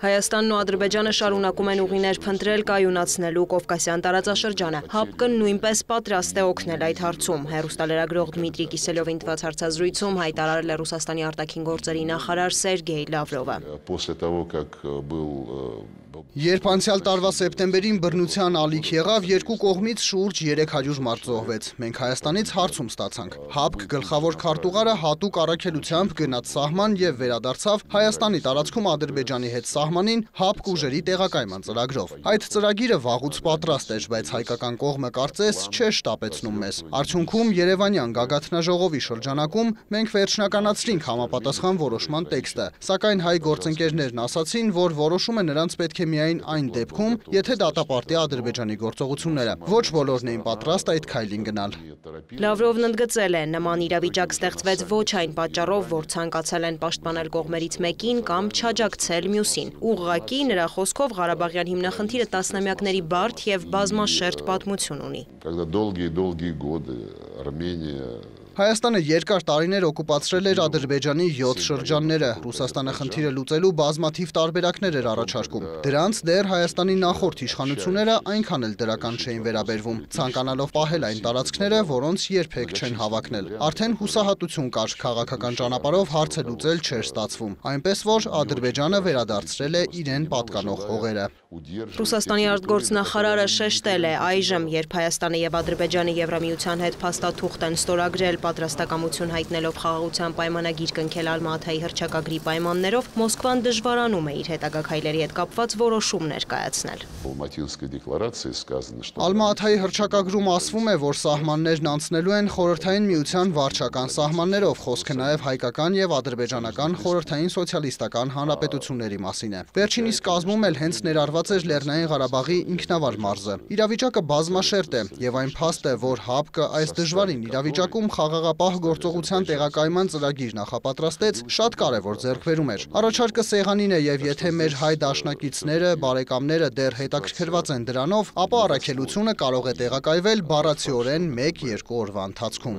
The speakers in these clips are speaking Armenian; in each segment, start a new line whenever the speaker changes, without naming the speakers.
Հայաստանն ու Ադրբեջանը շարունակում են ուղիներ փնտրել կայունացնելու Կովկասյան տարածաշրջանը։ ՀԱՊԿ-ն նույնպես պատրաստ է օգնել այդ հարցում։ Հեռուստալրագրող Դմիտրի Կիսելյովին տված հարցազրույցում հայտարարել է Ռուսաստանի արտաքին գործերի նախարար Սերգեյ Լավրովը։
Երբ անցյալ տարվա սեպտեմբերին բռնության ալիք եղավ, երկու կողմից շուրջ 300 մարդ զոհվեց։ Մենք Հայաստանից հարցում ստացանք։ ՀԱՊԿ գլխավոր քարտուղարը հատուկ առաքելությամբ գնաց սահման եւ վերադարձավ Հայաստանի տարածքում Ադրբեջանի հետ սահմանին ՀԱՊԿ ուժերի տեղակայման ծրագրով։ Այդ ծրագիրը վաղուց պատրաստ էր, բայց հայկական կողմը կարծես չէր շտապեցնում մեզ։ Արդյունքում Երևանյան գագաթնաժողովի շրջանակում մենք վերջնականացրինք համապատասխան որոշման տեքստը, սակայն հայ գործընկերներն ասացին, որ որոշումը նրանց պետք է միայն այն դեպքում, եթե դատապարտի Ադրբեջանի գործողությունները։ Ոչ բոլորն էին պատրաստ այդ քայլին գնալ։
Լավրովն ընդգծել է, նման իրավիճակ ստեղծվեց ոչ այն պատճառով, որ ցանկացել են պաշտպանել կողմերից մեկին կամ չաջակցել մյուսին։ Ուղղակի նրա խոսքով Ղարաբաղյան հիմնախնդիրը տասնամյակների բարդ եւ բազմաշերտ պատմություն ունի։
Հայաստանը երկար տարիներ օկուպացրել էր Ադրբեջանի 7 շրջանները, Ռուսաստանը խնդիրը լուծելու բազմաթիվ տարբերակներ էր առաջարկում։ Դրանց դեռ Հայաստանի նախորդ իշխանությունները այնքան էլ դրական չէին վերաբերվում, ցանկանալով պահել այն տարածքները, որոնց երբեք չեն հավակնել։ Արդեն հուսահատություն կար, քաղաքական ճանապարհով հարցը լուծել չէր ստացվում, այնպես որ Ադրբեջանը վերադարձրել է իրեն պատկանող հողերը։
Ռուսաստանի արտգործնախարարը շեշտել է, այժմ, երբ Հայաստանը եւ Ադրբեջանը Եվրամիության հետ փաստաթուղթ են ստորագրել պատրաստակամություն հայտնելով խաղաղության պայմանագիր կնքել Ալմատայի հռչակագրի պայմաններով, Մոսկվան դժվարանում է իր հետագա քայլերի հետ կապված որոշումներ կայացնել։
Ալմատայի հռչակագրում ասվում է, որ սահմաններն անցնելու են Խորհրդային Միության վարչական սահմաններով, խոսքը նաև հայկական եւ ադրբեջանական խորհրդային սոցիալիստական հանրապետությունների մասին է։ Վերջինիս կազմում էլ հենց ներառված էր Լեռնային Ղարաբաղի ինքնավար մարզը։ Իրավիճակը բազմաշերտ է եւ այն փաստ է, որ ՀԱՊԿ այս դժվարին իրավիճակում խաղաղապահ գործողության տեղակայման ծրագիր նախապատրաստեց, շատ կարևոր ձեռքբերում էր։ Առաջարկը սեղանին է եւ եթե մեր հայ դաշնակիցները, բարեկամները դեռ հետաքրքրված են դրանով, ապա առաքելությունը կարող է տեղակայվել բառացիորեն 1-2 օրվա ընթացքում։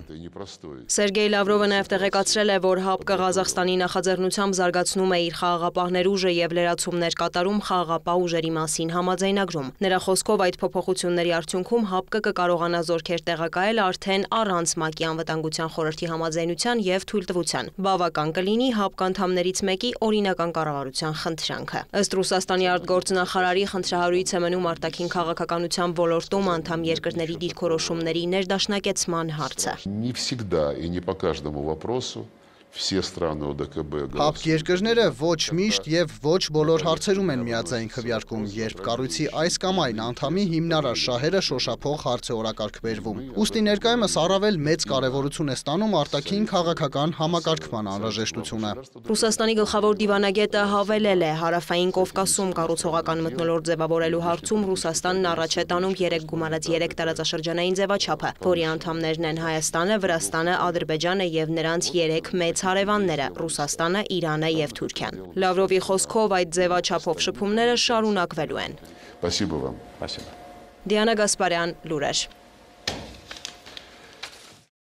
Սերգեյ Լավրովը նաև տեղեկացրել է, որ ՀԱՊԿ Ղազախստանի նախաձեռնությամբ զարգացնում է իր խաղաղապահներ ուժը եւ լրացումներ կատարում խաղաղապահ ուժերի մասին համաձայնագրում։ Նրա խոսքով այդ փոփոխությունների արդյունքում ՀԱՊԿ կկարողանա զորքեր տեղակայել արդեն առանց ՄԱԿ-ի Անվտանգության խորհրդի համաձայնության եւ թույլտվության։ Բավական կլինի ՀԱՊԿ անդամներից մեկի օրինական կառավարության խնդրանքը։ Ըստ Ռուսաստանի արտգործնախարարի խնդրահարույց է մնում արտաքին քաղաքականության ոլորտում անդամ երկրների դիրքորոշումների ներդաշնակեցման հարցը։
ՀԱՊԿ երկրները ոչ միշտ եւ ոչ բոլոր հարցերում են միաձայն քվեարկում, երբ կառույցի այս կամ այն անդամի հիմնարար շահերը շոշափող հարց է օրակարգ բերվում։ Ուստի ներկայումս առավել մեծ կարևորություն է ստանում արտաքին քաղաքական համակարգման անհրաժեշտությունը։
Ռուսաստանի գլխավոր դիվանագետը հավելել է, Հարավային Կովկասում կառուցողական մթնոլորտ ձևավորելու հարցում Ռուսաստանն առաջ է տանում 3 գումարած 3 տարածաշրջանային ձևաչափը, որի անդամներն են Հայաստանը, Վրաստանը, Ադրբեջանը եւ նրանց 3 մեծ հարևանները՝ Ռուսաստանը, Իրանը եւ Թուրքիան։ Լավրովի խոսքով այդ ձևաչափով շփումները շարունակվելու են։ Դիանա Գասպարյան, լուրեր։